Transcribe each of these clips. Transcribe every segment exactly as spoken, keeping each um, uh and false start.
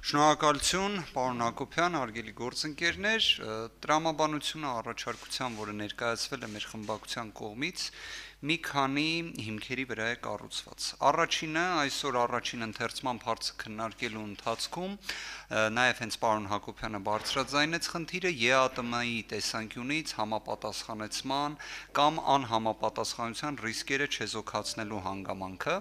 Շնորհակալություն, պարոն Հակոբյան, հարգելի գործընկերներ, տրամաբանությունը առաջարկության, որը ներկայացվել է մեր խմբակցության կողմից, մի քանի հիմքերի վրա է կառուցված։ Առաջինը, այսօր առաջին ընթերցման հարցը քննարկելու ընթացքում նաև հենց պարոն Հակոբյանը բարձրաձայնեց խնդիրը ԵԱՏՄ-ի տեսանկյունից համապատասխանեցման կամ անհամապատասխանության ռիսկերը չեզոքացնելու հանգամանքը։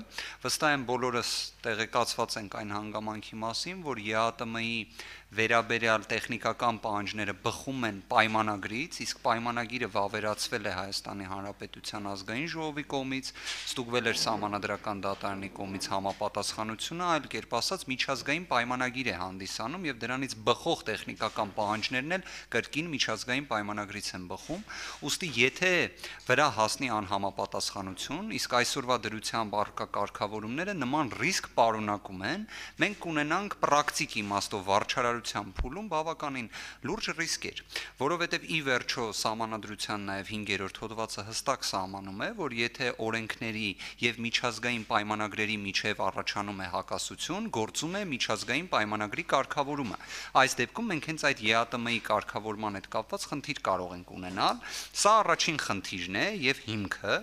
Վստահ եմ բոլորս տեղեկացված ենք այն հանգամանքի մասին, որ ԵԱՏՄ-ի վերաբերյալ տեխնիկական պահանջները բխում են պայմանագրից, իսկ պայմանագիրը վավերացվել է Հայաստանի Հանրապետության ազգային ժողովի կողմից, ստուգվել էր Սահմանադրական դատարանի կողմից համապատասխանությունը, այլ կերպ ասած միջազգային պայմանագիր է հանդիսանում եւ դրանից բխող տեխնիկական պահանջներն էլ կրկին միջազգային պայմանագրից են բխում, ուստի եթե վրա հասնի անհամապատասխանություն, իսկ այսօրվա դրությամբ առկա կարգավորումները նման ռիսկ պարունակում են, մենք կունենանք պրակտիկ իմաստով վարչարարության փուլում բավականին լուրջ ռիսկեր, որովհետև ի վերջո Սահմանադրության նաև հինգերորդ հոդվածը հստակ սահմանում է, որ եթե օրենքների եւ միջազգային պայմանագրերի միջև առաջանում է հակասություն, գործում է միջազգային պայմանագրի կարգավորումը։ Այս դեպքում մենք հենց այդ ԵԱՏՄ-ի կարգավորման հետ կապված խնդիր կարող ենք ունենալ։ Սա առաջին խնդիրն է եւ հիմքը։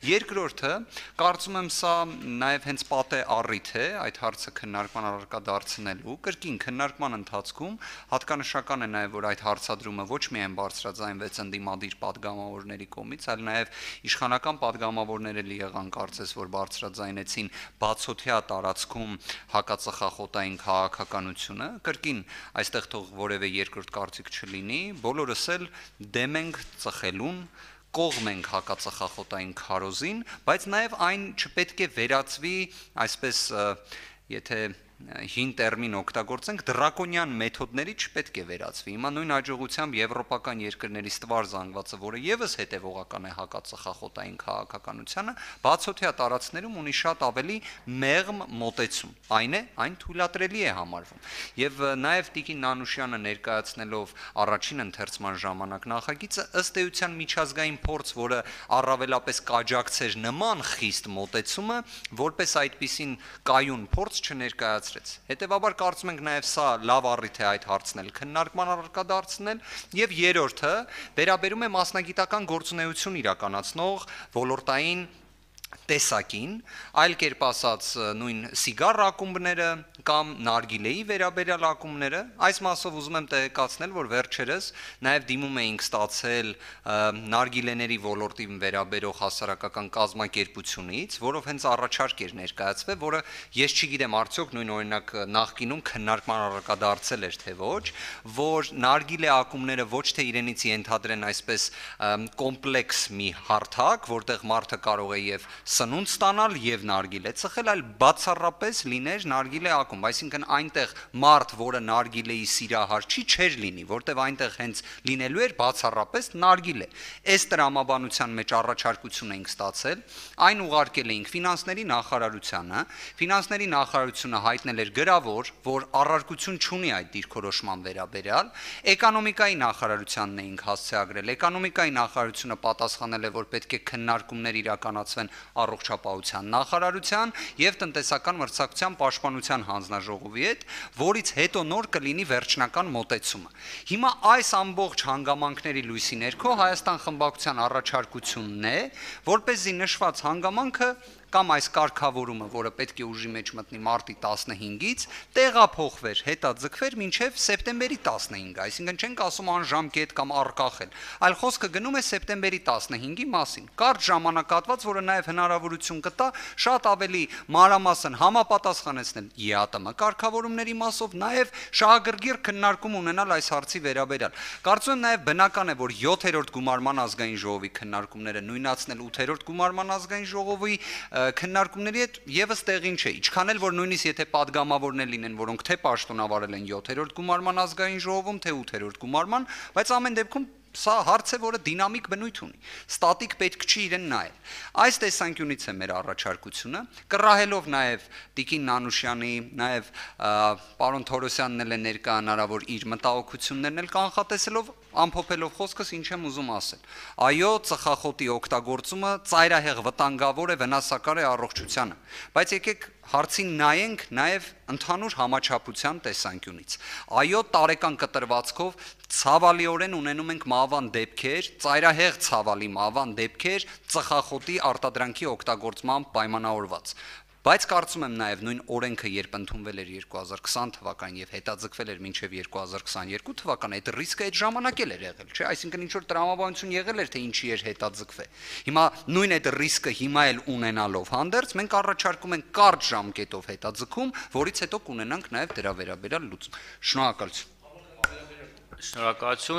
Երկրորդը, կարծում եմ սա նաև հենց պատե առիթ է այդ հարցը քննարկման առարկա դարձնելու։ Կրկին քննարկման ընթացքում հատկանշական է նաև, որ այդ հարցադրումը ոչ միայն բարձրաձայնվեց ընդդիմադիր պատգամավորների կողմից, այլ նաև իշխանական պատգամավորները լի եղան կարծես, որ բարձրաձայնեցին բացօթյա տարածքում հակածխախոտային քաղաքականությունը։ Կրկին այստեղ թող որևէ երկրորդ կարծիք չլինի, բոլորս էլ դեմ ենք ծխելուն, կողմ ենք հակածխախոտային քարոզին, բայց նաև այն չպետք է վերածվի, այսպես եթե հին տերմին օգտագործենք, դրակոնյան մեթոդների չպետք է վերածվի։ Հիմա նույն հաջողությամբ եվրոպական երկրների ստվար զանգվածը, որը եւս հետևողական է հակածխախոտային քաղաքականությանը, բացօթյա տարածքներում ունի շատ ավելի մեղմ մոտեցում։ Այն է, այն թույլատրելի է համարվում։ Եվ նաեւ Տիկին Նանուշյանը ներկայացնելով առաջին ընթերցման ժամանակ նախագիծը ըստ էության միջազգային փորձ, որը առավելապես կաջակցեր նման խիստ մոտեցումը, որպես այդպիսին կայուն փորձ չներկայացրեց։ Հետևաբար կարծում ենք նաև սա լավ առիթ է այդ հարցն էլ քննարկման առարկա դարձնել, եւ երրորդը վերաբերում է մասնագիտական գործունեություն իրականացնող ոլորտային տեսակին, այլ կերպ ասած նույն սիգար ակումբները կամ նարգիլեի վերաբերյալ ակումբները, այս մասով ուզում եմ տեղեկացնել, որ վերջերս նաև դիմում էինք ստացել նարգիլեների ոլորտին վերաբերող հասարակական կազմակերպությունից, որով հենց առաջարկ էր ներկայացվել, որը ես չգիտեմ արդյոք նույն օրինակ նախկինում քննարկման առարկա դարձել էր թե ոչ, որ նարգիլե ակումբները ոչ թե իրենից ենթադրեն այսպես կոմպլեքս մի հարթակ, որտեղ մարդը կարող է եւ սնունդ ստանալ եւ նարգիլե ծխել, այլ բացառապես լիներ նարգիլե ակումբ, այսինքն այնտեղ մարդ, որը նարգիլեի սիրահար չի, չէր լինի, որտեղ այնտեղ հենց լինելու էր բացառապես նարգիլե։ Այս տրամաբանության մեջ առաջարկություն էինք ստացել, այն ուղարկել էինք ֆինանսների նախարարությանը, ֆինանսների նախարարությունը հայտնել էր գրավոր, որ առարկություն չունի այդ դիրքորոշման վերաբերյալ, էկոնոմիկայի նախարարությանն էինք հասցեագրել, էկոնոմիկայի նախարարությունը պատասխանել է, որ պետք է քննարկումներ իրականացվեն առողջապահության նախարարության եւ տնտեսական մրցակցության պաշտպանության հանձնաժողովի հետ, որից հետո նոր կլինի վերջնական մոտեցումը։ Հիմա այս ամբողջ հանգամանքների լույսի ներքո Հայաստան խմբակցության առաջարկությունն է, որպեսզի նշված հանգամանքը կամ այս կարգավորումը, որը պետք է ուժի մեջ մտնի մարտի տասնհինգից, տեղափոխվեր, հետաձգվեր մինչև սեպտեմբերի տասնհինգը, այսինքն չենք ասում անժամկետ կամ առկախել, այլ խոսքը գնում է սեպտեմբերի տասնհինգի մասին։ Կարճ ժամանակահատված, որը նաև հնարավորություն կտա շատ ավելի մանրամասն համապատասխանեցնել ԵԱՏՄ կարգավորումների մասով, նաև շահագրգիռ քննարկում ունենալ այս հարցի վերաբերյալ։ Կարծում եմ նաև բնական է, որ յոթերորդ գումարման ազգային ժողովի քննարկումները նույնացնել ութերորդ գումարման ազգային ժողովի քննարկումների հետ եւս տեղին չէ, ինչքան էլ որ նույնիսկ եթե падգամավորներ լինեն, որոնք թե պաշտոնավարել են յոթերորդ գումարման ազգային ժողովում, թե ութերորդ գումարման, բայց ամեն դեպքում սա հարց է, որը դինամիկ բնույթ ունի, ստատիկ պետք չի իրեն նայել։ Այս տեսանկյունից է մեր առաջարկությունը, կռահելով նաև Տիկին Նանուշյանի, նաև պարոն Թորոսյանն էլ է ներկա հնարավոր իր մտահոգություններն էլ կանխատեսելով, ամփոփելով խոսքս ինչ եմ ուզում ասել։ Այո, ծխախոտի օգտագործումը ծայրահեղ վտանգավոր է, վնասակար է առողջությանը, բայց եկեք Հարցին նայենք նաև ընդհանուր համաչափության տեսանկյունից։ Այո, տարեկան կտրվածքով ցավալիորեն ունենում ենք մահվան դեպքեր, ծայրահեղ ցավալի մահվան դեպքեր, ծխախոտի արտադրանքի օգտագործման պայմանավորված։ Բայց կարծում եմ նաև նույն օրենքը, երբ ընդունվել էր երկու հազար քսան թվականին եւ հետաձգվել էր մինչեւ երկու հազար քսաներկու թվական, այդ ռիսկը այդ ժամանակ էլ էր եղել, չէ՞, այսինքն ինչ որ տրամաբանություն եղել էր, թե ինչի էր հետաձգվել։ Հիմա նույն այդ ռիսկը հիմա էլ ունենալով հանդերձ մենք առաջարկում ենք կարճ ժամկետով հետաձգում, որից հետո կունենանք նաև դրա վերաբերյալ լուծում։ Շնորհակալություն։ Շնորհակալություն։